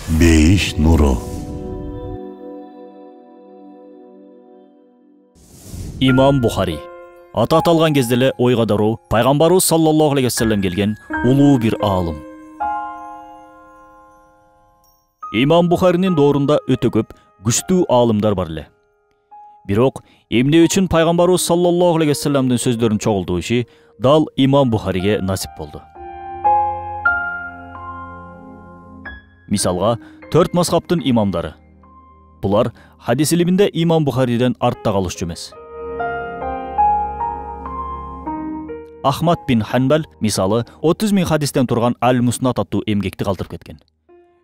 Бейиш нуру. Имам Бухари. Аты аталган кезде эле ойга дароо пайгамбарыбыз саллаллаху алейхи вассалам келген улуу бир аалым. Имам Бухаринин доорунда өтө көп күчтүү аалымдар бар эле. Бирок эмне үчүн пайгамбарыбыз саллаллаху алейхи вассаламдын сөздөрүн чогултуу иши дал Имам Бухариге насип болду. Мисалга, 4 мазхабтын имамдары. Булар хадис илиминде Имам Бухариден артта калышчу эмес. Ахмад бин Ханбал мисалы 30 000 хадистен турган Аль-Муснат аттуу эмгекти калтырып кеткен.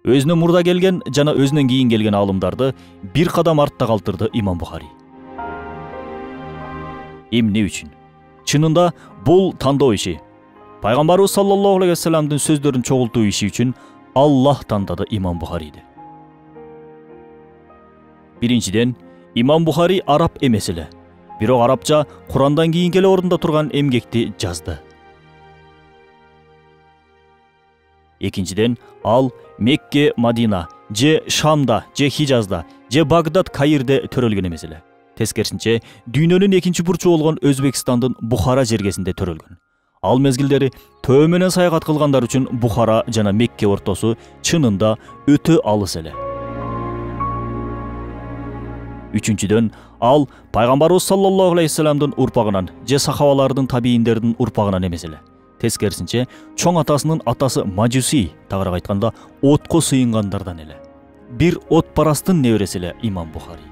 Өзүнөн мурда келген жана өзүнөн кийин келген аалымдарды бир кадам артта калтырды Имам Бухари. Эмне үчүн? Чынында бул тандоо иши. Пайгамбарыбыз саллаллаху алейхи вассаламдын сөздөрүн чогултуу иши үчүн Аллах тандады Имам Бухариди. Биринчиден, Имам Бухари араб эмес эле. Бирок арабча Курандан кийинки эле орунда турган эмгекти жазды. Экинчиден, ал Мекке, Мадина, же Шамда, же Хижазда, же Багдад, Каирде төрөлгөн эмес эле. Тескерисинче, дүйнөнүн экинчи бурчу болгон Өзбекстандын Бухара жергесинде төрөлгөн. Ал мезгилдери төө менен саягат кылгандар үчүн Бухара жана Мекке ортосу чынында өтө алыс эле. Үчүнчүдөн, ал пайгамбарыбыз саллаллаху алейхи вассаламдын урпагынан же сахабалардын табийиндердин урпагынан эмес эле. Тескерисинче, чоң атасынын атасы Мажуси, тагыраак айтканда, отко сыйынгандардан эле. Бир отпарастын небереси эле Имам Бухари.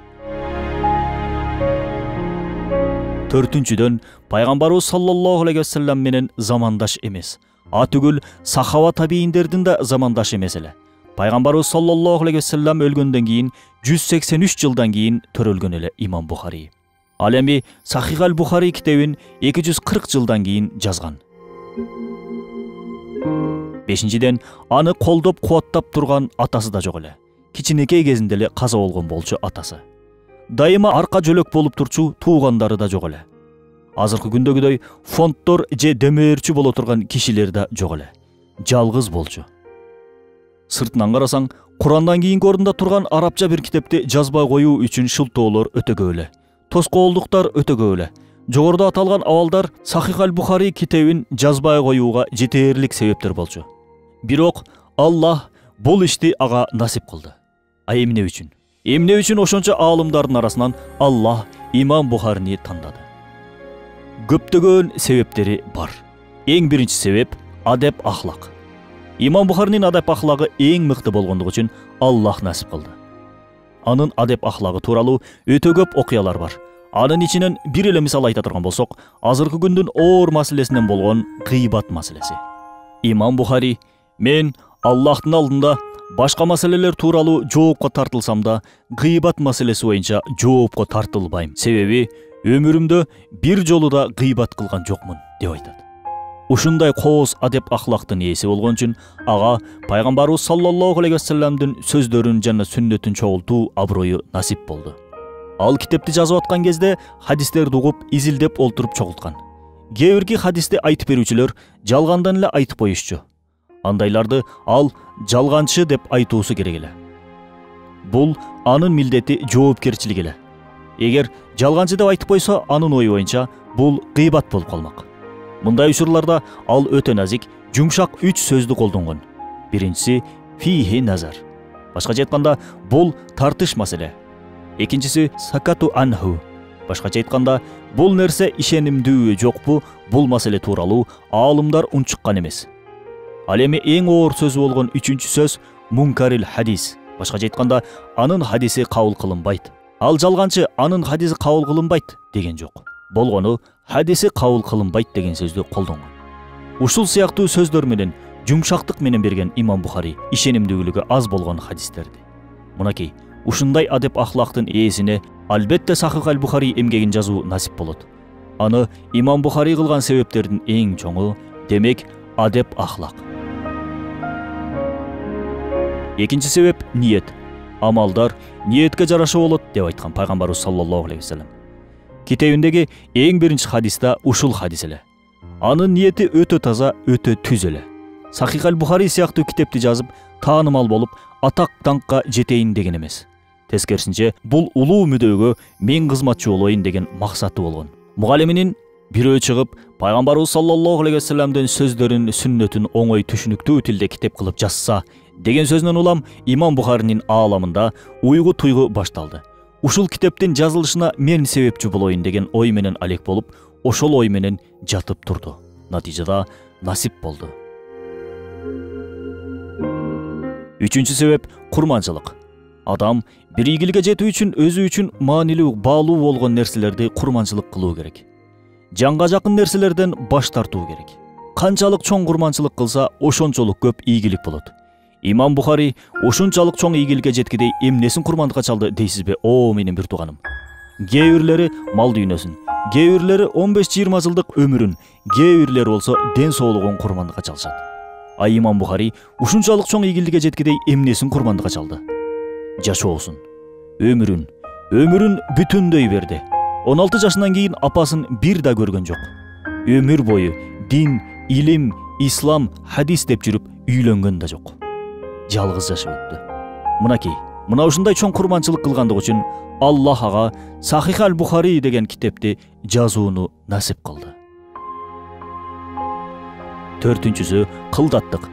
Төртүнчүдөн, пайгамбарыбыз саллаллаху алейхи вассалам менен замандаш эмес. Атүгүл сахаба табийиндердин да замандаш эмес эле. Пайгамбарыбыз саллаллаху алейхи вассалам өлгөндөн кийин 183 жылдан кийин төрөлгөн эле Имам Бухари. Ал эми Сахих аль-Бухари китебин 240 жылдан кийин жазган. Бешинчиден, аны колдоп кубаттап турган атасы да жок эле. Кичинекей кезинде эле каза болгон болчу атасы. Дайыма арка жөлөк болуп турчу туугандары да жок эле. Азыркы күндөгүдөй фонддор же дөмөрчү боло турган кишилер да жок эле. Жалгыз болчу. Сыртынан карасаң, Курандан кийинки орунда турган арабча бир китепти жазбай коюу үчүн шылтоолор өтө көп эле. Тоскоолдуктар өтө көп эле. Жогоруда аталган абалдар Сахих аль-Бухари китебин жазбай коюуга жетерлик себептер болчу. Бирок Аллах бул ишти ага насип кылды. А эмне үчүн? Эмне үчүн ошончо аалымдардын арасынан Аллах Имам Бухарини тандады? Көптөгөн себептери бар. Эң биринчи себеп адеп ахлак. Имам Бухаринин адеп ахлагы эң мыкты болгондугу үчүн Аллах насип кылды. Анын адеп ахлагы тууралуу өтө көп окуялар бар. Анын ичинен бир эле мисал айта турган болсок, азыркы күндүн оор маселесинен болгон гыйбат маселеси. Имам Бухари: "Мен Аллахтын алдында башка маселелер тууралуу жоопко тартылсам да, гыйбат маселеси боюнча жоопко тартылбайм. Себеби өмүрүмдө бир жолу да гыйбат кылган жокмун" деп айтат. Ушундай кооз адеп ахлактын ээси болгон үчүн ага пайгамбарыбыз саллаллаху алейхи вассаламдын сөздөрүн жана сүннөтүн чогултуу аброю насип болду. Ал китепти жазып аткан кезде хадистерди угуп, изилдеп олтуруп чогулткан. Кээ бирки хадисти айтып берүүчүлөр жалгандан эле айтып коюшчу. Андайларды ал жалганчы деп айтуусу керек эле. Бул анын милдети, жоопкерчилиги эле. Эгер жалганчы деп айтып койсо, анын ою боюнча бул гыйбат болуп калмак. Мындай учурларда ал өтө назик, жумшак 3 сөздү колдонгон. Биринчиси фихи назар. Башкача айтканда, бул тартыш маселе. Экинчиси сакату анху. Башкача айтканда, бул нерсе ишенимдүү жокпу, бул маселе тууралуу аалымдар унчуккан эмес. Ал эми эң оор сөзү болгон 3-чү сөз мункарил хадис. Башкача айтканда, анын хадиси кабыл кылынбайт. Ал жалганчы, анын хадиси кабыл кылынбайт деген жок. Болгону хадиси кабыл кылынбайт деген сөздү колдонгон. Ушул сыяктуу сөздөр менен жумшактык менен берген Имам Бухари ишенимдүүлүгү аз болгон хадистерди. Мынакей, ушундай адеп ахлактын ээсине албетте Сахих аль-Бухари эмгегин жазуу насип болот. Аны Имам Бухари кылган себептердин эң чоңу, демек, адеп ахлак. Экинчи себеп ниет. Амалдар ниетке жараша болот деп айткан пайгамбарыбыз саллаллаху алейхи вассалам. Китебиндеги эң биринчи хадиста ушул хадис эле. Анын ниети өтө таза, өтө түз эле. Сахих аль-Бухари сыяктуу китепти жазып, таанымал болуп, атак даңкка жетейин деген эмес. Тескерисинче, бул улуу мүдөөгө мен кызматчы болоюн деген максаты болгон. Мугалиминин бирөө чыгып, пайгамбарыбыз саллаллаху алейхи вассаламдын сөздөрүн, сүннөтүн оңой түшүнүктүү тилде китеп кылып жазса деген сөзүнөн улам Имам Бухаринин ааламында уйгу туйгу башталды. Ушул китептин жазылышына мен себепчи болоюн деген ой менен алек болуп, ошол ой менен жатып турду. Натыйжада насип болду. Үчүнчү себеп курманчылык. Адам бир ийгиликке жетүү үчүн өзү үчүн маанилүү, баалуу болгон нерселерди курманчылык кылуу керек. Жанга жакын нерселерден баш тартуу керек. Канчалык чоң курманчылык кылса, ошончолук көп ийгилик болот. Имам Бухари ушунчалык чоң ийгиликке жеткидей эмнесин курмандыкка чалды дейсизби, о менин бир тууганым? Кээ бирлери мал дүйнөсүн, кээ бирлери 15-20 жылдык өмүрүн, кээ бирлери болсо ден соолугун курмандыкка чалышат. А Имам Бухари ушунчалык чоң ийгиликке жеткидей эмнесин курмандыкка чалды? Жашоосун, өмүрүн бүтүндөй берди. 16 жашынан кийин апасын бир да көргөн жок. Өмүр бою дин, илим, ислам, хадис деп жүрүп үйлөнгөн да жок. Жалгыз жашап өттү. Мынакей, мына ушундай чоң курманчылык кылгандыгы үчүн Аллах ага Сахих аль-Бухари деген китепти жазууну насип кылды. Төртүнчүсү кылдаттык.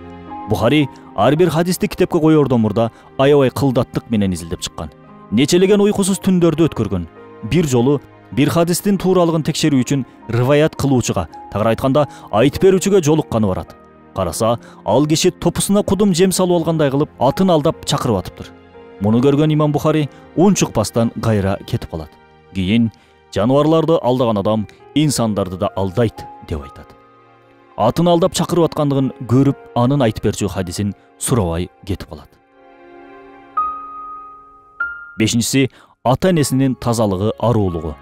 Бухари ар бир хадисти китепке коердон мурда аябай кылдаттык менен изилдеп чыккан. Нечелеген уйкусуз түндөрдү өткөргөн. Бир жолу бир хадистин тууралыгын текшерүү үчүн риваят кылуучуга, тагыраак айтканда айтып берүүчүгө жолукканы барат. Караса, ал киши топусуна кудум жем салып алгандай кылып, атын алдап чакырып атыптыр. Муну көргөн Имам Бухари унчукпастан кайра кетип калат. Кийин жаныбарларды алдаган адам инсандарды да алдайт деп айтат. Атын алдап чакырып аткандыгын көрүп, анын айтып берчү хадисин сурабай кетип калат. Бешинчиси ата-энесинин тазалыгы, аруулугу.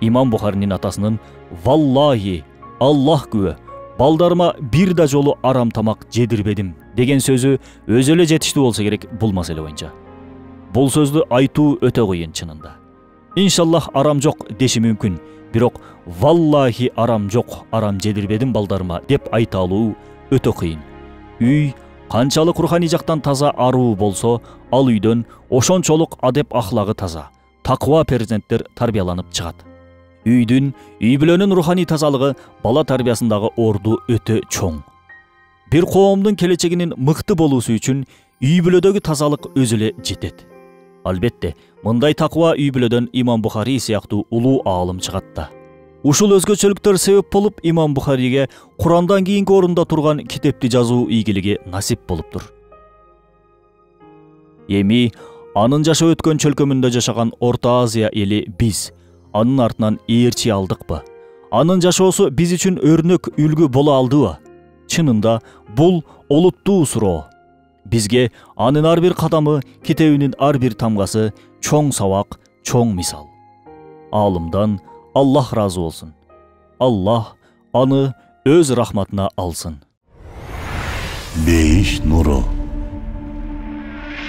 Имам Бухаринин атасынын «Валлахи, Аллах күбө, балдарыма бир да жолу арам тамак жедирбедим» деген сөзү өзү эле жетиштүү болсо керек бул маселе боюнча. Бул сөздү айтуу өтө кыйын чынында. Иншаллах арам жок деши мүмкүн, бирок «Валлахи арам жок, арам жедирбедим балдарыма» деп айта алуу өтө кыйын. Үй канчалык руханий жактан таза, аруу болсо, ал үйдөн ошончолук адеп ахлагы таза, таква перзенттер тарбияланып чыгат. Үйдүн, үй бүлөнүн руханий тазалыгы бала тарбиясындагы орду өтө чоң. Бир коомдун келечегинин мыкты болуусу үчүн үй бүлөдөгү тазалык өзү эле жетет. Албетте, мындай таква үй бүлөдөн Имам Бухари сыяктуу улуу аалым чыгат да. Ушул өзгөчөлүктөр себеп болуп Имам Бухариге Курандан кийинки орунда турган китепти жазуу ийгилиги насип болуптур. Эми анын жашап өткөн чөлкөмүндө жашаган Орто Азия эли биз анын артынан ээрчи алдыкпы? Анын жашоосу биз үчүн өрнөк, үлгү боло алдыбы? Чынында бул олуттуу суроо. Бизге анын ар бир кадамы, китебинин ар бир тамгасы чоң сабак, чоң мисал. Аалымдан Аллах разы болсун. Аллах аны өз рахматына алсын. Бейиш нуру.